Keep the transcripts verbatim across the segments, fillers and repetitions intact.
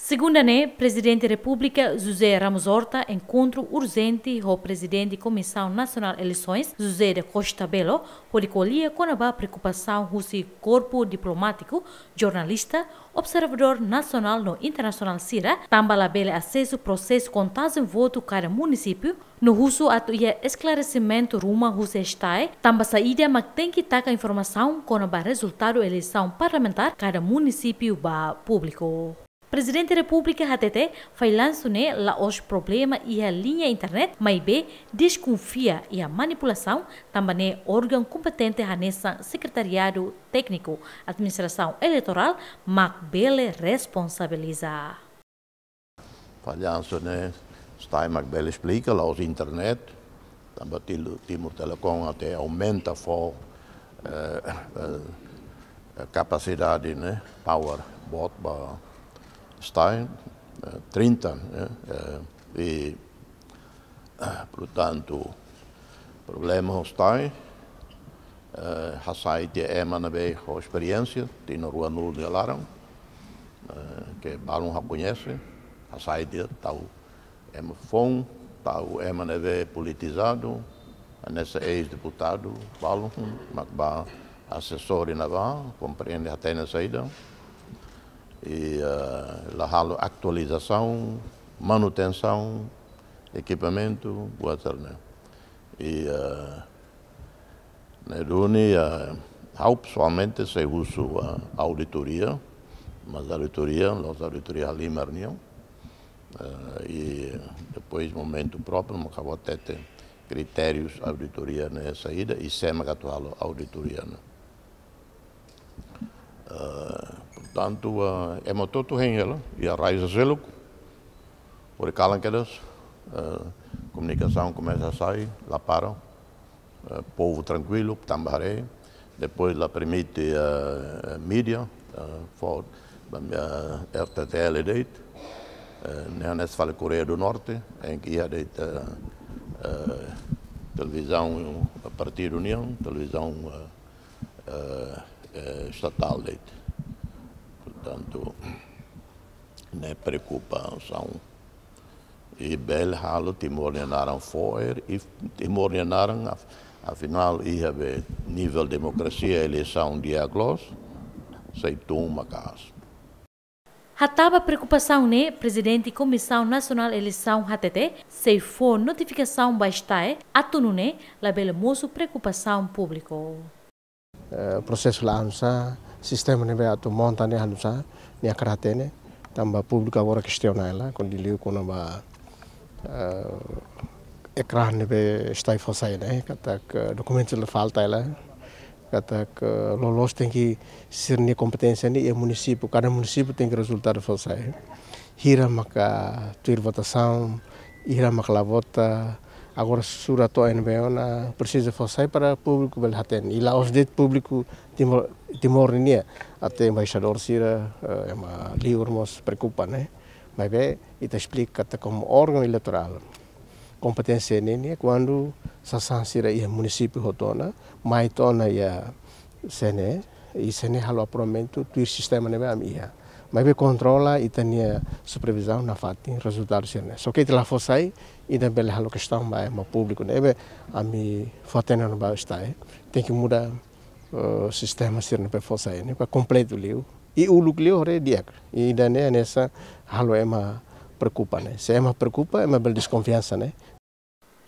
Segunda ne'e, Prezidente Repúblika José Ramos Horta enkontru urjente ho Prezidente Komisaun Nasionál Eleisoens, José da Costa Belo, hodi ko'alia kona-ba preokupasaun husi korpu diplomátiku, jornalista, observadór nasionál no internasionál sira, tanba labele asesu prosesu kontajen votu kada munisípiu, no husu atu iha esklaresimentu ruma husi STAE, tanba saida mak tenke taka informasaun kona-ba rezultadu eleisaun parlamentár kada munisípiu ba públiku. Prezidente Repúblika hatete, fallansu ne'e la'ós problema iha liña internet, maibé deskonfia iha manipulasaun, tanba ne'e órgaun kompetente hanesan Sekretariadu Tékniku Administrasaun Eleitorál mak bele responsabiliza. Fallansu ne'e STAE mak bele esplika, la'ós internet. Tanba Tilu-, Timor Telecom até aumenta fó, eh, eh, kapasidade, ne'e, power boot ba STAE, eh, trinta, ne'e, eh, i, eh, portantu, problema ho STAE, eh, hasai tiha ema ne'ebé ho esperiénsia, tinan ruanulu nia laran, eh, ke balun ha'u koñese, hasai tiha tau ema foun, tau ema ne'ebé politizadu, hanesan eis-deputadu, balun, mak ba asesór iha ne'ebá, komprende hatene saida. I, eh, la halo atualizasaun, manutensaun, ekipamentu, buat sira-ne'e. I, eh, ne'e duni, eh, ha'u pesoalmente sei husu, eh, auditoria, mas auditoria, la'ós auditoria halimar nian. Eh, i depois momentu própriu, mak ha'u hatete kritériu auditoria ne'e saida, i sé mak atu halo auditoria ne'e. Eh, portantu, eh, ema hotu-hotu hein hela, iha rai sira seluk, hori kalan kedas, eh, komunikasaun komesa sai, la para, eh, povu trankuilu, tanba haree, depois la permite, eh, mídia, eh, fó, eh, R T T L de'it, eh, ne'e hanesan fali Koreia do Norte, em que iha de'it, eh, eh, televizaun partidu nian, televizaun, eh, eh, eh, estatál de'it. Portantu, ne'e preokupasaun. I bele halo Timor nia naran fo'er, i Timor nia naran, af-, afinál, iha be nivel demokrasia, eleisaun di'ak loos, sei tun maka'as. Hatán ba preokupasaun ne'e, Prezidente Komisaun Nasionál Eleisaun hatete, sei fó notifikasaun ba STAE, atu nune'e labele mosu preokupasaun públiku. Eh, prosesu la avansa, sistema ne'ebé atu monta ne'e la avansa, nia hakarak hatene, tanba públiku agora kestiona hela, kuandu liu kona-ba, eh, ekran ne'ebé STAE fó sai ne'e, katak, eh, dokumentu la falta hela, katak, eh, loloos tenke sira-nia kompeténsia ne'e iha munisípiu, kada munisípiu tenke rezultadu fó sai. Hira maka tuir votasaun, hira maka la vota, agora sura to'o ne'ebé ona presiza fó sai para públiku bele hatene. I la'ós de'it públiku Timor, Timor nian, até embaixadór sira, eh, ema liur mós preokupa, ne'e. Maibé, ita esplika katak komu órgaun eleitorál, kompeténsia ne'e, ne'e kuandu sasán sira iha munisípiu hotu ona, mai to'o ona iha CNE, i CNE halo aprovamentu tuir sistema ne'ebé ami iha. Maibé kontrola ita-nia supervizaun nafatin rezultadu sira-ne'e. Só ke ita la fó sai, ita bele halo kestaun ba ema públiku ne'ebé ami fó hatene ona ba STAE. Tenke muda, eh, sistema sira-ne'e para fó sai ne'e, para kompletu liu. I uluk liu haree di'ak. I ida-ne'e hanesan halo ema preokupa ne'e. Se ema preokupa, ema bele deskonfiansa ne'e.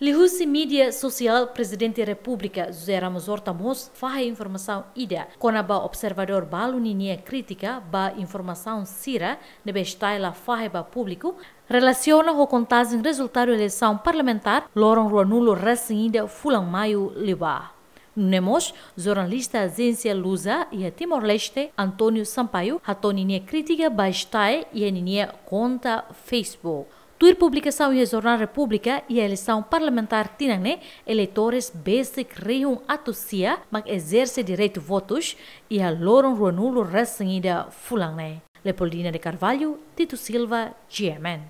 Liuhusi mídia sosiál, Prezidente Repúblika José Ramos Horta mós fahe informasaun ida kona-ba observadór balu ninia krítika ba informasaun sira ne'ebé STAE la fahe ba públiku, relasiona ho kontajen rezultadu eleisaun parlamentár loron ruanulu resin ida fulan Maiu liubá. Nune'e mós, jornalista ajénsia Lusa iha Timor-Leste, António Sampaio, hato'o ninia krítika ba STAE iha ninia konta Facebook. Tuir publikasaun iha Jornál Repúblika, iha eleisaun parlamentár tinan ne'e, eleitores besik rihun atus sia mak ezerse direitu votus iha loron ruanulu resin ida fulan ne'e. Leopoldina de Carvalho, Tito Silva, G M N.